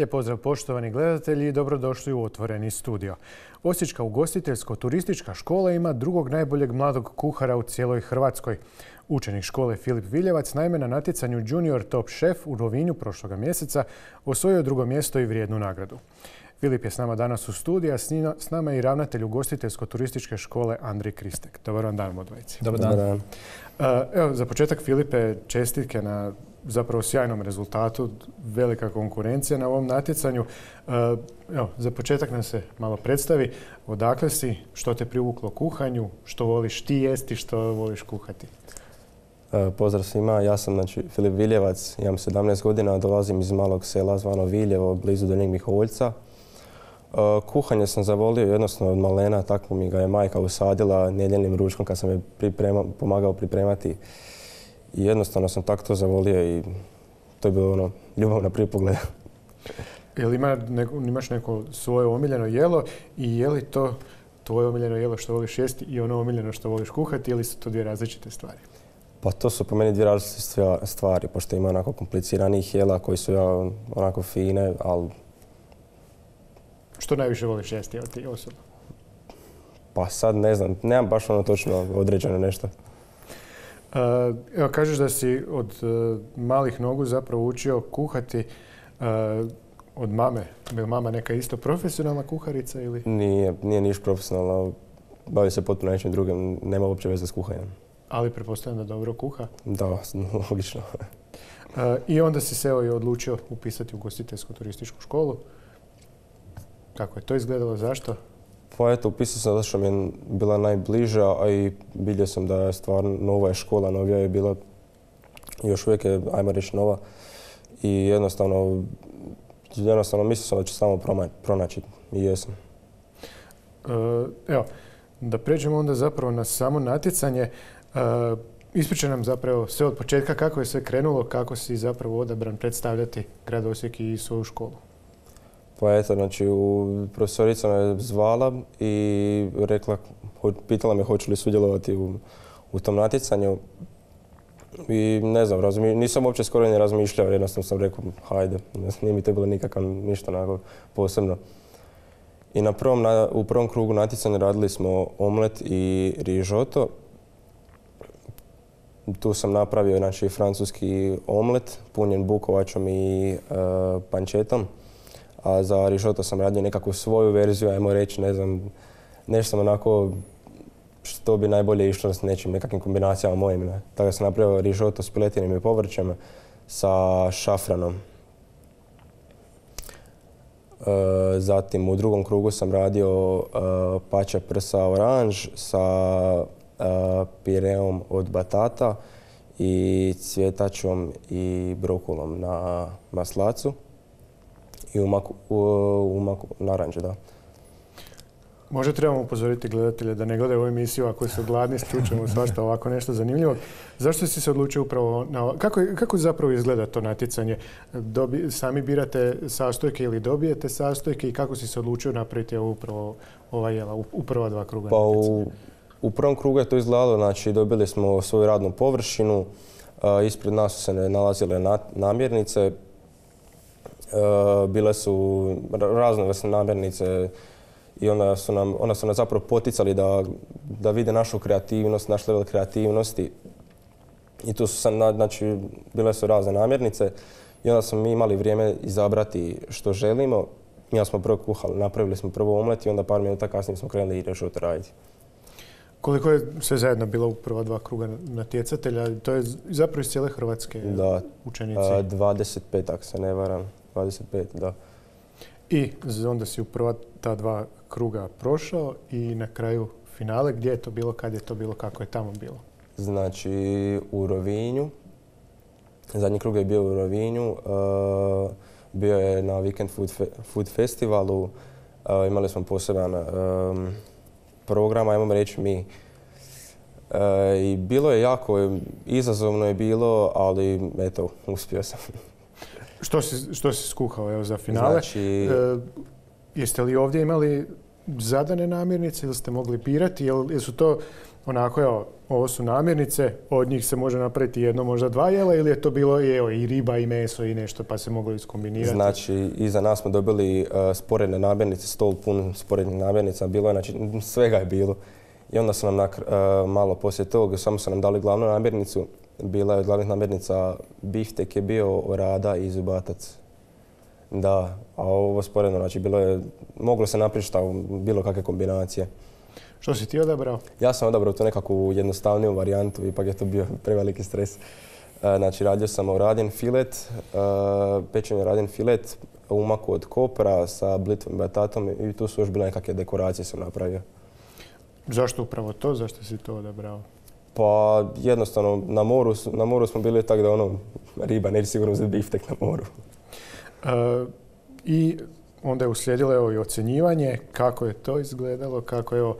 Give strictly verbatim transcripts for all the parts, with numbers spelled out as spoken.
Lijep pozdrav poštovani gledatelji i dobrodošli u Otvoreni studio. Osječka ugostiteljsko-turistička škola ima drugog najboljeg mladog kuhara u cijeloj Hrvatskoj. Učenik škole Filip Viljevac naime na natjecanju Junior Top Chef u Rovinju prošloga mjeseca osvojio drugo mjesto i vrijednu nagradu. Filip je s nama danas u studiju, a s nama je i ravnatelj ugostiteljsko-turističke škole Andrej Kristek. Dobar vam dan, odvojici. Dobar dan. Dobar dan. Evo, za početak, Filipe, čestitke na zapravo sjajnom rezultatu, velika konkurencija na ovom natjecanju. Evo, za početak nam se malo predstavi odakle si, što te privuklo kuhanju, što voliš ti jesti, što voliš kuhati. Pozdrav svima, ja sam znači, Filip Viljevac, imam sedamnaest godina, dolazim iz malog sela zvano Viljevo, blizu Donjeg Miholjca. Kuhanje sam zavolio jednostavno od malena, tako mi ga je majka usadila nedjeljnim ručkom kad sam je priprema, pomagao pripremati. I jednostavno sam tako to zavolio i to je bilo ono, ljubav na prvi pogled. Jel ima neko, imaš neko svoje omiljeno jelo i je li to tvoje omiljeno jelo što voliš jesti i ono omiljeno što voliš kuhati ili su to dvije različite stvari? Pa to su po meni dvije različite stvari, pošto ima onako kompliciranih jela koji su ja, onako fine, ali... Što najviše voliš jesti od ti osobno? Pa sad ne znam, nemam baš ono točno određeno nešto. Uh, evo, kažeš da si od uh, malih nogu zapravo učio kuhati uh, od mame. Je mama neka isto profesionalna kuharica ili? Nije, nije niš profesionalno. Bavi se potpuno nečim drugim, nema uopće veze s kuhanjem. Ali pretpostavljam da dobro kuha? Da, logično. uh, I onda si se evo i odlučio upisati u ugostiteljsko-turističku školu. Kako je to izgledalo, zašto? Pa eto, upisao sam zato što mi je bila najbliža, a i vidio sam da je stvarno nova je škola, novija je bila, još uvijek je, ajmo reći, nova. I jednostavno, jednostavno mislio sam da ću samo pronaći i jesam. Uh, evo, da pređemo onda zapravo na samo natjecanje. Uh, Ispričaj nam zapravo sve od početka kako je sve krenulo, kako si zapravo odabran predstavljati grad Osijek i svoju školu. Pa eto, znači, profesorica me zvala i rekla, pitala me hoću li sudjelovati u, u tom natjecanju. I ne znam, razmi, nisam uopće skoro ni razmišljao, jednostavno sam rekao, hajde, nije mi to bilo nikakav ništa onako posebno. I na prvom, na, u prvom krugu natjecanja radili smo omlet i rižoto. Tu sam napravio znači, francuski omlet, punjen bukovačom i uh, pančetom. A za rižoto sam radio nekakvu svoju verziju, ajmo reći, ne znam, nešto sam onako što bi najbolje išlo s nečim, nekakvim kombinacijama mojim. Ne. Tako da sam napravio rižoto s piletinim i povrćem sa šafranom. E, zatim u drugom krugu sam radio e, pače prsa oranž sa e, pireom od batata i cvjetačom i brokolom na maslacu. I u maku, u, u maku naranđe, da. Možda trebamo upozoriti gledatelje da ne gledaju ovu emisiju ako su gladni, čućemo svašta ovako nešto zanimljivo. Zašto si se odlučio upravo na... Kako, kako zapravo izgleda to natjecanje? Dobi, sami birate sastojke ili dobijete sastojke i kako si se odlučio napraviti upravo ova jela u, u prva dva kruga pa natjecanja? U, u prvom krugu je to izgledalo, znači dobili smo svoju radnu površinu, a, ispred nas su se nalazile na, namirnice. Uh, bile su raznovrsne namirnice i onda su, nam, onda su nas zapravo poticali da, da vide našu kreativnost, naš level kreativnosti. I tu su sam, znači, bile su razne namirnice i onda smo mi imali vrijeme izabrati što želimo. Mi smo prvo kuhali, napravili smo prvo omlet i onda par minuta kasnije smo krenuli i rižoto raditi. Koliko je sve zajedno bilo u prva dva kruga natjecatelja? To je zapravo iz cijele Hrvatske da, učenici? Da, dvadeset pet, ako se ne varam. dvadeset pet, da. I onda si u prva ta dva kruga prošao i na kraju finale. Gdje je to bilo, kad je to bilo, kako je tamo bilo? Znači u Rovinju. Zadnji krug je bio u Rovinju. Uh, bio je na Weekend Food, fe, food Festivalu. Uh, imali smo poseban um, program, ajmo reći mi. Uh, I bilo je jako, izazovno je bilo, ali eto, uspio sam. Što si, što si skuhao evo, za finale? Znači... E, jeste li ovdje imali zadane namirnice ili ste mogli birati? Jel, jel su to onako, evo, ovo su namirnice, od njih se može napraviti jedno, možda dva jela, ili je to bilo evo, i riba i meso i nešto pa se moglo iskombinirati? Znači, iza nas smo dobili uh, sporedne namirnice, stol pun sporednih namirnica, bilo je, znači svega je bilo. I onda su nam na, uh, malo poslije toga, samo su nam dali glavnu namirnicu. Bila je od glavnih namirnica biftek je bio, orada i zubatac. Da, a ovo sporedno, znači bilo je, moglo se napraviti šta, bilo kakve kombinacije. Što si ti odabrao? Ja sam odabrao tu nekakvu jednostavniju varijantu, ipak je to bio preveliki stres. Znači, radio sam oradin filet, pečen oradin filet, umaku od kopra sa blitvom i batatom i tu su još bile nekakve dekoracije sam napravio. Zašto upravo to? Zašto si to odabrao? Pa jednostavno, na moru, na moru smo bili tako da ono, riba neće sigurno uzeti biftek na moru. Uh, I onda je uslijedilo evo, i ocjenjivanje. Kako je to izgledalo? Kako evo,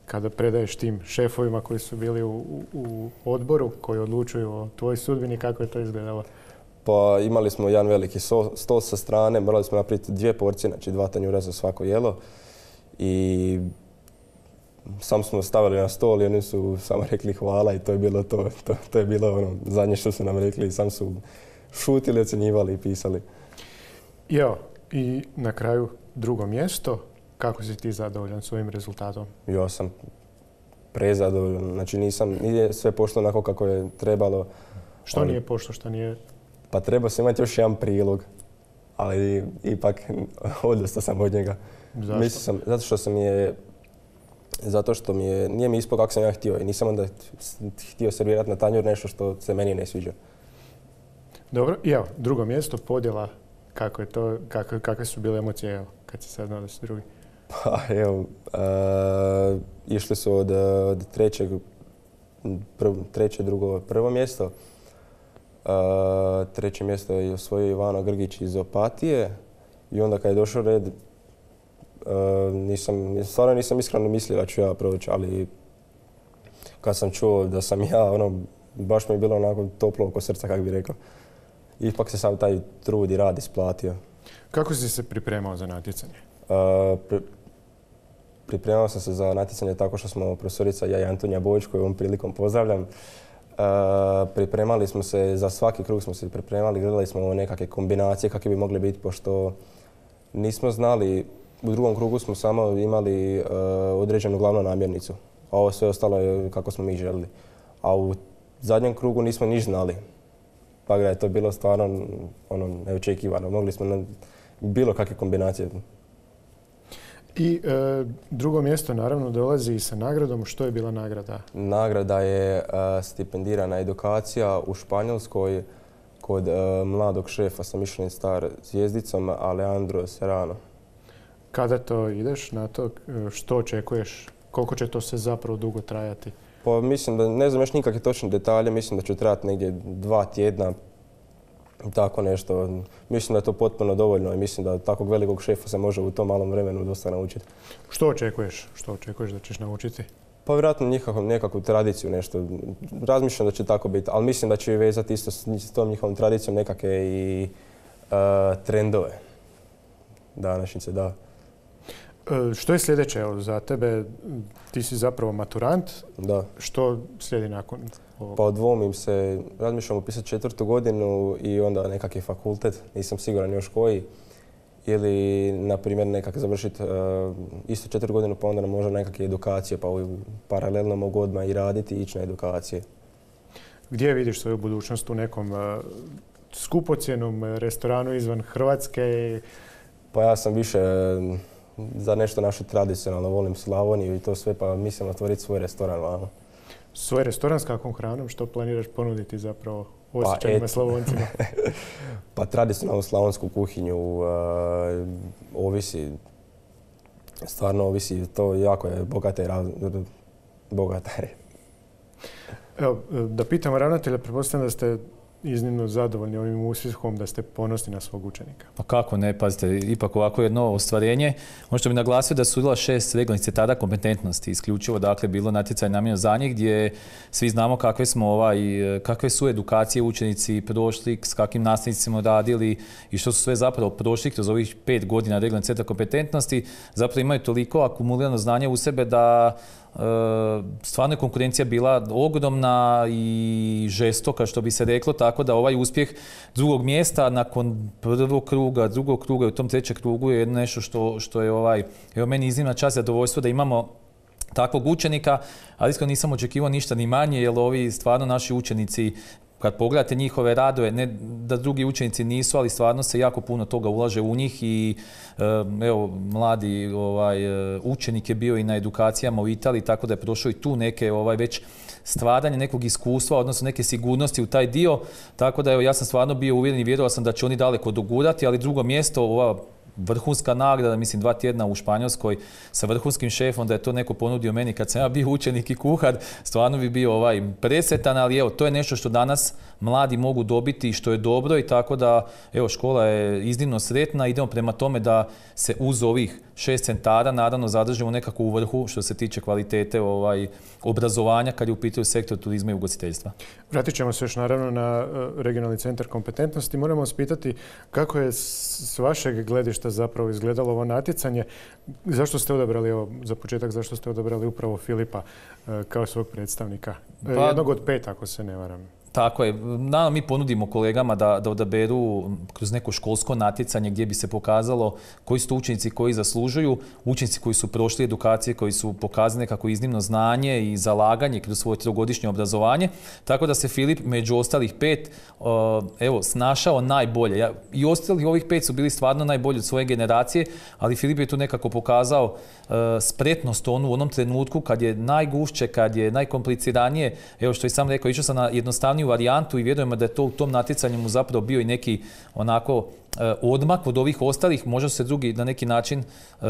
kada predaješ tim šefovima koji su bili u, u, u odboru, koji odlučuju o tvojoj sudbini, kako je to izgledalo? Pa imali smo jedan veliki stol sa strane, morali smo napraviti dvije porcije, znači dva tanjura za svako jelo. I sam smo stavili na stol i oni su samo rekli hvala i to je bilo to. To, to je bilo ono zadnje što su nam rekli i sam su šutili, ocjenjivali i pisali. I evo, i na kraju drugo mjesto. Kako si ti zadovoljan svojim rezultatom? Ja sam prezadovoljan. Znači nisam, nije sve pošlo onako kako je trebalo. Što ali, nije pošlo, što nije? Pa trebao sam imati još jedan prilog, ali ipak odustao sam od njega. Zašto? Sam, zato što sam je, zato što mi je, nije mi ispao kako sam ja htio i nisam onda htio servirati na tanjur nešto što se meni ne sviđa. Dobro, i evo, drugo mjesto, podjela, kako je to, kako, kakve su bile emocije, evo, kad si sad nadao se drugi? Pa evo, uh, išli su od, od trećeg, prv, treće, drugo, prvo mjesto. Uh, treće mjesto je osvojio Ivano Grgić iz Opatije i onda kad je došao red, uh, nisam, stvarno nisam iskreno mislio da ću ja proći, ali kad sam čuo da sam ja, ono, baš mi je bilo onako toplo oko srca, kako bih rekao. Ipak se sam taj trud i rad isplatio. Kako si se pripremao za natjecanje? Uh, pri, pripremao sam se za natjecanje tako što smo profesorica ja i Antonija Bojić, koju ovom prilikom pozdravljam. Uh, pripremali smo se, za svaki krug smo se pripremali, gledali smo nekakve kombinacije kakve bi mogle biti, pošto nismo znali, u drugom krugu smo samo imali uh, određenu glavnu namirnicu, a ovo sve ostalo je kako smo mi želili. A u zadnjem krugu nismo niš znali. Pa da je to bilo stvarno ono, neočekivano. Mogli smo na bilo kakve kombinacije. I e, drugo mjesto naravno dolazi sa nagradom. Što je bila nagrada? Nagrada je e, stipendirana edukacija u Španjolskoj kod e, mladog šefa sa Michelin star zvijezdicom Alejandro Serrano. Kada to ideš na to? Što očekuješ? Koliko će to se zapravo dugo trajati? Pa mislim da, ne znam još nikakve točne detalje, mislim da će trajati negdje dva tjedna, tako nešto. Mislim da je to potpuno dovoljno i mislim da takvog velikog šefa se može u tom malom vremenu dosta naučiti. Što očekuješ? Što očekuješ da ćeš naučiti? Pa vjerojatno nekakvu, nekakvu tradiciju nešto. Razmišljam da će tako biti, ali mislim da će vezati isto s tom njihovom tradicijom nekakve i uh, trendove današnjice, da. Što je sljedeće evo, za tebe? Ti si zapravo maturant. Da. Što slijedi nakon ovog? Pa odvomim se, razmišljam upisati četvrtu godinu i onda nekakvi fakultet, nisam siguran još koji. Ili, na primjer, nekak završiti uh, isto četiri godinu pa onda možda nekakve edukacije, pa paralelno mogu odmah i raditi i ići na edukacije. Gdje vidiš svoju budućnost u nekom uh, skupocjenom restoranu izvan Hrvatske? Pa ja sam više uh, za nešto naše tradicionalno, volim Slavoniju i to sve, pa mislim otvoriti svoj restoran vamo. Svoj restoran s kakvom hranom? Što planiraš ponuditi zapravo Osječanima, pa Slavoncima? Pa tradicionalnu slavonsku kuhinju uh, ovisi, stvarno ovisi, to jako je bogata i bogata je. Evo, da pitamo ravnatelja, pretpostavljam da ste iznimno zadovoljni ovim uspjehom, da ste ponosni na svog učenika? Pa kako ne, pazite, ipak ovako jedno ostvarenje. Ono što bi naglasio da su udjela šest regionalnih centara kompetentnosti, isključivo dakle bilo natjecanje namijenjeno za njih, gdje svi znamo kakve smo ovaj, kakve su edukacije učenici prošli, s kakvim nastavnicima radili i što su sve zapravo prošli kroz ovih pet godina regionalnih centara kompetentnosti, zapravo imaju toliko akumulirano znanje u sebe da stvarno je konkurencija bila ogromna i žestoka, što bi se reklo, tako da ovaj uspjeh drugog mjesta nakon prvog kruga, drugog kruga i u tom trećem krugu je nešto što, što je ovaj, evo meni iznimna čast i zadovoljstvo da imamo takvog učenika, ali iskreno nisam očekivao ništa ni manje, jer ovi stvarno naši učenici, kad pogledate njihove radove, ne da drugi učenici nisu, ali stvarno se jako puno toga ulaže u njih i evo, mladi ovaj, učenik je bio i na edukacijama u Italiji, tako da je prošao i tu neke ovaj, već stvaranje nekog iskustva, odnosno neke sigurnosti u taj dio, tako da evo, ja sam stvarno bio uvjeren i vjerovao sam da će oni daleko dogurati, ali drugo mjesto, ova vrhunska nagrada, mislim dva tjedna u Španjolskoj sa vrhunskim šefom, da je to neko ponudio meni kad sam ja bio učenik i kuhar, stvarno bi bio ovaj presretan, ali evo, to je nešto što danas mladi mogu dobiti i što je dobro i tako da, evo, škola je iznimno sretna, idemo prema tome da se uz ovih šest centara naravno zadržimo nekako u vrhu što se tiče kvalitete ovaj, obrazovanja kad je u pitanju sektor turizma i ugostiteljstva. Vratit ćemo se još naravno na regionalni centar kompetentnosti. Moramo vas pitati kako je s vašeg gledišta zapravo izgledalo ovo natjecanje. Zašto ste odabrali, evo, za početak, zašto ste odabrali upravo Filipa kao svog predstavnika? Pa, jednog od pet, ako se ne varam. Tako je. Naravno, mi ponudimo kolegama da, da odaberu kroz neko školsko natjecanje gdje bi se pokazalo koji su to učenici koji zaslužuju, učenici koji su prošli edukacije, koji su pokazali nekako iznimno znanje i zalaganje kroz svoje trogodišnje obrazovanje. Tako da se Filip među ostalih pet evo, snašao najbolje. Ja, i ostalih ovih pet su bili stvarno najbolji od svoje generacije, ali Filip je tu nekako pokazao spretnost onu u onom trenutku kad je najgušće, kad je najkompliciranije. Evo što i sam rekao, išao sam na jednostavniju varijantu i vjerujemo da je to u tom natjecanju mu zapravo bio i neki onako odmak od ovih ostalih, možda su se drugi na neki način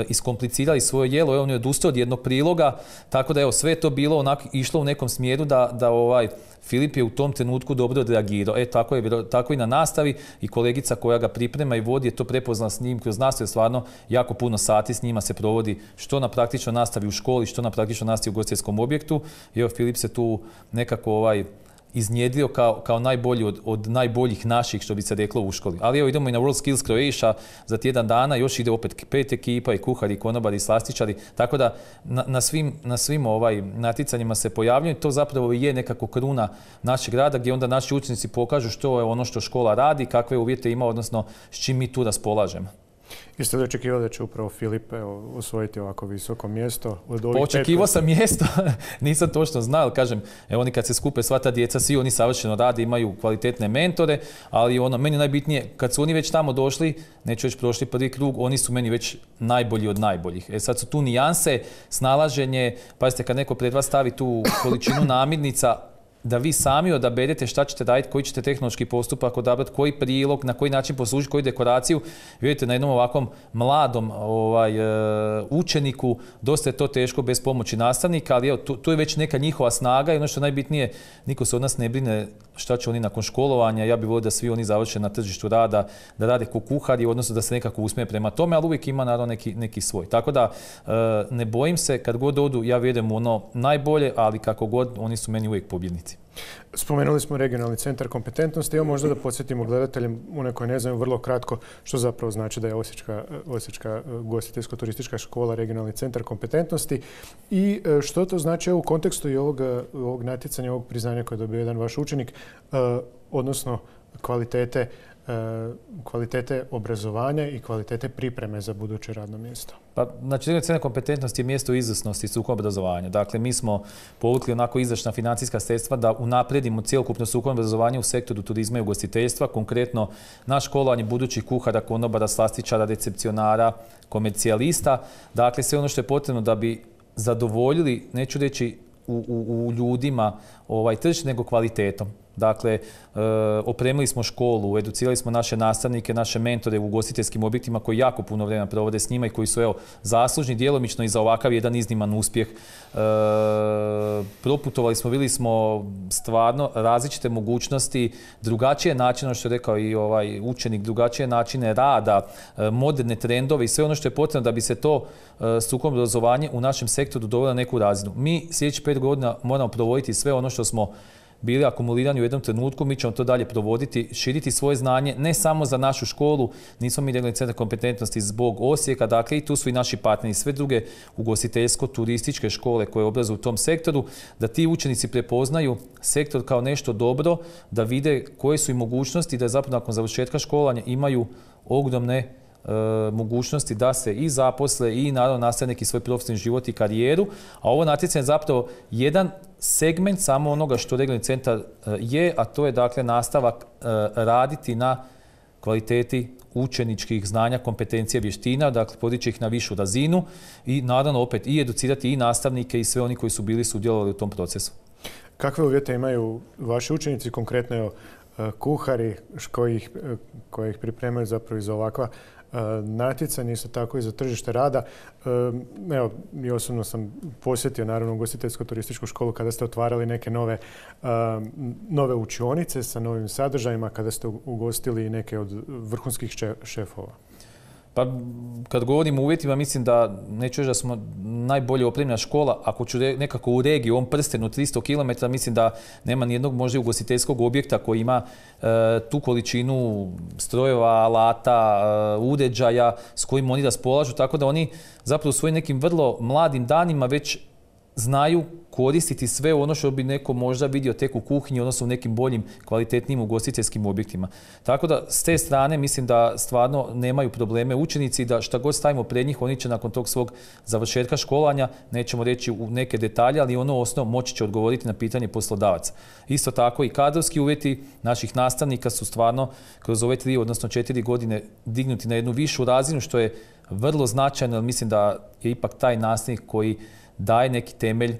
iskomplicirali svoje jelo, evo on je odustao od jednog priloga, tako da evo sve to bilo onako išlo u nekom smjeru da, da ovaj Filip je u tom trenutku dobro odreagirao. E, tako je, tako i na nastavi i kolegica koja ga priprema i vodi je to prepoznala s njim kroz nastavu, stvarno jako puno sati s njima se provodi što na praktičnoj nastavi u školi, što na praktičnoj nastavi u ugostiteljskom objektu. I evo Filip se tu nekako ovaj iznjedrio kao, kao najbolji od, od najboljih naših, što bi se reklo u školi. Ali evo idemo i na World Skills Croatia za tjedan dana, još ide opet pet ekipa i kuhari, i konobari, i slastičari, tako da na, na svim, na svim ovaj, natjecanjima se pojavljaju. To zapravo je nekako kruna našeg rada gdje onda naši učenici pokažu što je ono što škola radi, kakve uvjete ima, odnosno s čim mi tu raspolažemo. Jeste li očekivali da će upravo Filip osvojiti ovako visoko mjesto? Od ovih Očekivao sam mjesto, nisam točno znao, ali kažem, evo oni kad se skupe sva ta djeca, svi oni savršeno rade, imaju kvalitetne mentore, ali ono, meni najbitnije, kad su oni već tamo došli, neću već prošli prvi krug, oni su meni već najbolji od najboljih. E sad su tu nijanse, snalaženje, pazite, kad neko pred vas stavi tu količinu namirnica, da vi sami odaberete šta ćete raditi, koji ćete tehnološki postupak odabrati, koji prilog, na koji način poslužiti, koju dekoraciju. Vidite, na jednom ovakvom mladom ovaj, učeniku dosta je to teško bez pomoći nastavnika, ali evo, tu, tu je već neka njihova snaga i ono što je najbitnije, niko se od nas ne brine šta će oni nakon školovanja. Ja bih volio da svi oni završe na tržištu rada, da rade ko kuhari, odnosno da se nekako usmije prema tome, ali uvijek ima naravno neki, neki svoj. Tako da ne bojim se, kad god odu, ja vjerujem u ono najbolje, ali kako god, oni su meni uvijek pobjednici. Spomenuli smo regionalni centar kompetentnosti. Evo možda da podsjetimo gledateljem, one koji ne znaju, vrlo kratko što zapravo znači da je Osječka, Osječka ugostiteljsko-turistička škola regionalni centar kompetentnosti i što to znači u kontekstu i ovog, ovog natjecanja, ovog priznanja koje je dobio jedan vaš učenik, odnosno kvalitete, kvalitete obrazovanja i kvalitete pripreme za buduće radno mjesto. Pa, znači, regionalni centar kompetentnosti je mjesto izvrsnosti i strukovnog obrazovanja. Dakle, mi smo povukli onako izdašna financijska sredstva da unaprijedimo cjelokupno strukovno obrazovanje u sektoru turizma i ugostiteljstva. Konkretno, na školovanje budućih kuhara, konobara, slastičara, recepcionara, komercijalista. Dakle, sve ono što je potrebno da bi zadovoljili, neću reći u, u, u ljudima ovaj, tržište, nego kvalitetom. Dakle, e, opremili smo školu, educirali smo naše nastavnike, naše mentore u ugostiteljskim objektima koji jako puno vremena provode s njima i koji su evo, zaslužni djelomično i za ovakav jedan izniman uspjeh. E, proputovali smo, vidjeli smo stvarno različite mogućnosti, drugačije načine, što je rekao i ovaj učenik, drugačije načine rada, e, moderne trendove i sve ono što je potrebno da bi se to e, strukovno obrazovanje u našem sektoru dovelo na neku razinu. Mi sljedećih pet godina moramo provoditi sve ono što smo bili akumulirani u jednom trenutku, mi ćemo to dalje provoditi, širiti svoje znanje, ne samo za našu školu, nismo mi regionalni centar kompetentnosti zbog Osijeka, dakle i tu su i naši partneri, sve druge ugostiteljsko-turističke škole koje obrazuju u tom sektoru, da ti učenici prepoznaju sektor kao nešto dobro, da vide koje su i mogućnosti, da zapravo nakon završetka školovanja imaju ogromne e, mogućnosti da se i zaposle i naravno nastave neki svoj profesionalni život i karijeru, a ovo natjecanje je zapravo jedan segment samo onoga što regionalni centar je, a to je dakle nastavak raditi na kvaliteti učeničkih znanja, kompetencija, vještina, dakle podići ih na višu razinu i naravno opet i educirati i nastavnike i sve oni koji su bili sudjelovali u tom procesu. Kakve uvjete imaju vaši učenici, konkretno kuhari koji ih, koji ih pripremaju zapravo za ovakva natjecanje, isto tako i za tržište rada? Evo, i osobno sam posjetio naravno ugostiteljsko-turističku školu kada ste otvarali neke nove, nove učionice sa novim sadržajima, kada ste ugostili neke od vrhunskih šefova. Pa kad govorim o uvjetima, mislim da neću reći da smo najbolje opremljena škola. Ako ću nekako u regiji, u ovom prstenu tristo kilometara, mislim da nema nijednog možda ugostiteljskog objekta koji ima e, tu količinu strojeva, alata, e, uređaja s kojim oni raspolažu, tako da oni zapravo u svojim nekim vrlo mladim danima već znaju koristiti sve ono što bi neko možda vidio tek u kuhinji, odnosno u nekim boljim, kvalitetnijim ugostiteljskim objektima. Tako da s te strane mislim da stvarno nemaju probleme učenici, da šta god stavimo pred njih, oni će nakon tog svog završetka školanja, nećemo reći u neke detalje, ali ono osnovno moći će odgovoriti na pitanje poslodavaca. Isto tako i kadrovski uvjeti naših nastavnika su stvarno kroz ove tri, odnosno četiri godine dignuti na jednu višu razinu, što je vrlo značajno, jer mislim da je ipak taj nastavnik koji daje neki temelj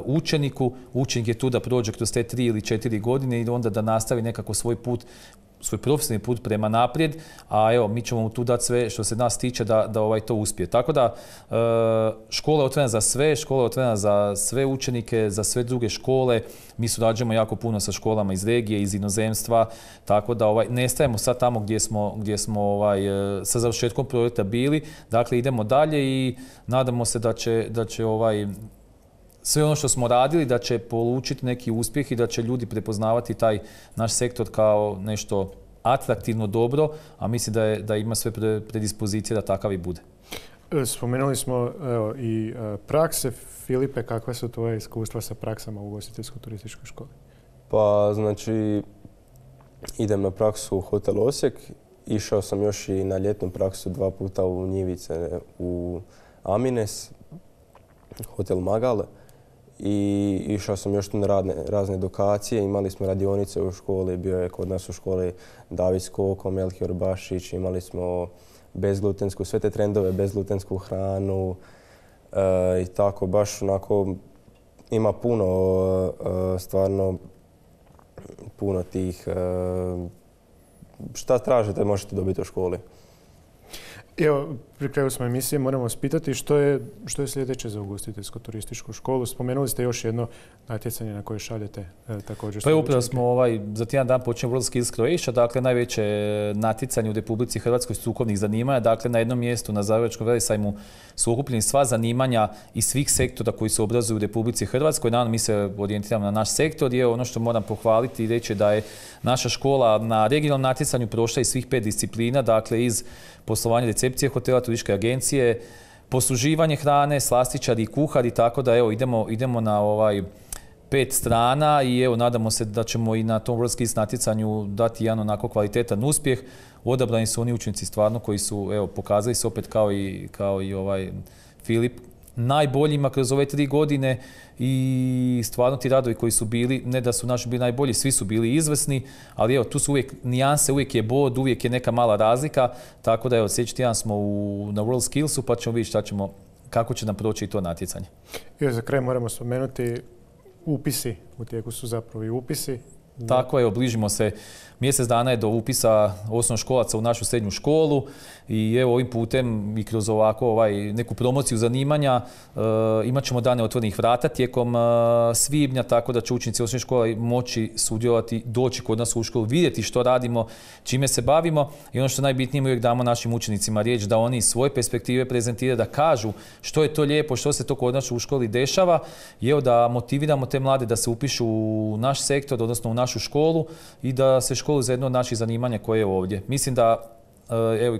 učeniku. Učenik je tu da prođe kroz te tri ili četiri godine i onda da nastavi nekako svoj put, svoj profesionalni put prema naprijed, a evo, mi ćemo mu tu dati sve što se nas tiče da, da ovaj to uspije. Tako da škola je otvorena za sve, škola je otvorena za sve učenike, za sve druge škole. Mi surađujemo jako puno sa školama iz regije, iz inozemstva, tako da ovaj, ne stajemo sad tamo gdje smo, gdje smo ovaj, sa završetkom projekta bili. Dakle, idemo dalje i nadamo se da će, da će ovaj, sve ono što smo radili da će polučiti neki uspjeh i da će ljudi prepoznavati taj naš sektor kao nešto atraktivno, dobro, a mislim da, je, da ima sve predispozicije da takav i bude. Spomenuli smo evo, i prakse. Filipe, kakve su tvoje iskustva sa praksama u ugostiteljsko-turističkoj školi? Pa, znači, idem na praksu u Hotel Osijek. Išao sam još i na ljetnu praksu dva puta u Njivice, u Amines, Hotel Magal. I išao sam još tu na radne, razne edukacije. Imali smo radionice u školi, bio je kod nas u školi David Skoko, Melchior Bašić, imali smo bezglutensku, sve te trendove, bezglutensku hranu e, i tako, baš onako ima puno, e, stvarno puno tih, e, šta tražite možete dobiti u školi. Evo, pri kraju smo emisije, moramo vas pitati što je, što je sljedeće za ugostiteljsko-turističku školu. Spomenuli ste još jedno natjecanje na koje šaljete e, također. Pa upravo smo ovaj, za tjedan dan počinjemo World Skills Croatia, dakle najveće natjecanje u Republici Hrvatskoj strukovnih zanimanja. Dakle, na jednom mjestu na Zagrebačkom velesajmu su okupljeni sva zanimanja iz svih sektora koji se obrazuju u Republici Hrvatskoj. Naravno, mi se orijentiramo na naš sektor i ono što moram pohvaliti i reći da je naša škola na regionalnom natjecanju prošla iz svih pet disciplina, dakle iz poslovanja recepcije hotela, turističke agencije, posluživanje hrane, slastičari i kuhari, tako da evo idemo, idemo na ovaj pet strana i evo nadamo se da ćemo i na tom World Skills natjecanju dati jedan onako kvalitetan uspjeh. Odabrani su oni učenici stvarno koji su evo pokazali se opet kao i, kao i ovaj Filip najboljima kroz ove tri godine i stvarno ti radovi koji su bili, ne da su naši bili najbolji, svi su bili izvrsni, ali evo tu su uvijek nijanse, uvijek je bod, uvijek je neka mala razlika, tako da evo sljedeći tjedan smo u, na World Skillsu pa ćemo vidjeti šta ćemo, kako će nam proći i to natjecanje. I za kraj moramo spomenuti upisi, u tijeku su zapravo i upisi. Tako je, obližimo se. Mjesec dana je do upisa osnovnoškolaca u našu srednju školu i evo ovim putem i kroz ovako ovaj, neku promociju zanimanja e, imat ćemo dane otvorenih vrata tijekom e, svibnja, tako da će učenici osnovne škole moći sudjelovati, doći kod nas u školu, vidjeti što radimo, čime se bavimo i ono što najbitnije uvijek damo našim učenicima riječ da oni iz svoje perspektive prezentiraju, da kažu što je to lijepo, što se to kod nas u školi dešava i evo da motiviramo te mlade da se upišu u naš sektor, odnosno u našu školu i da se školu za jedno od naših zanimanja koje je ovdje. Mislim da, evo,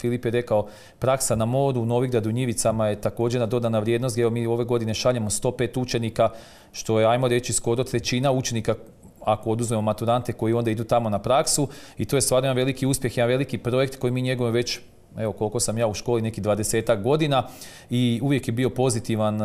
Filip je rekao, praksa na modu u Novigradu, Njivicama je također na dodana vrijednost. Evo, mi ove godine šaljemo sto pet učenika, što je, ajmo reći, skoro trećina učenika ako oduzmemo maturante koji onda idu tamo na praksu i to je stvarno jedan veliki uspjeh, jedan veliki projekt koji mi njegujemo već, evo koliko sam ja u školi, neki dvadesetak godina i uvijek je bio pozitivan e,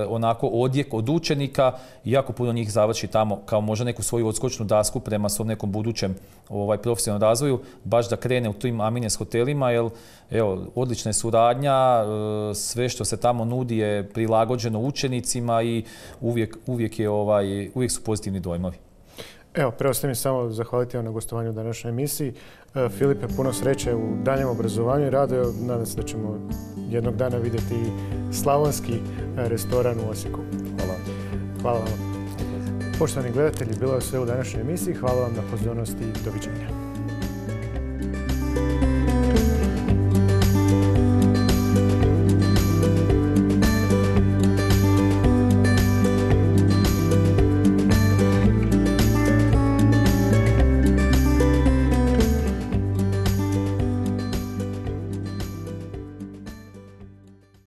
onako odjek od učenika i jako puno njih završi tamo kao možda neku svoju odskočnu dasku prema svom nekom budućem ovaj, profesionalnom razvoju, baš da krene u tim Amines hotelima, jer evo, odlična je suradnja, e, sve što se tamo nudi je prilagođeno učenicima i uvijek, uvijek, je, ovaj, uvijek su pozitivni dojmovi. Evo, preostaje mi samo zahvaliti vam na gostovanju u današnjoj emisiji. Filipe, puno sreće u daljem obrazovanju i radu. Nadam se da ćemo jednog dana vidjeti slavonski restoran u Osijeku. Hvala. Hvala vam. Poštovani gledatelji, bilo je sve u današnjoj emisiji. Hvala vam na pozornosti i doviđenja.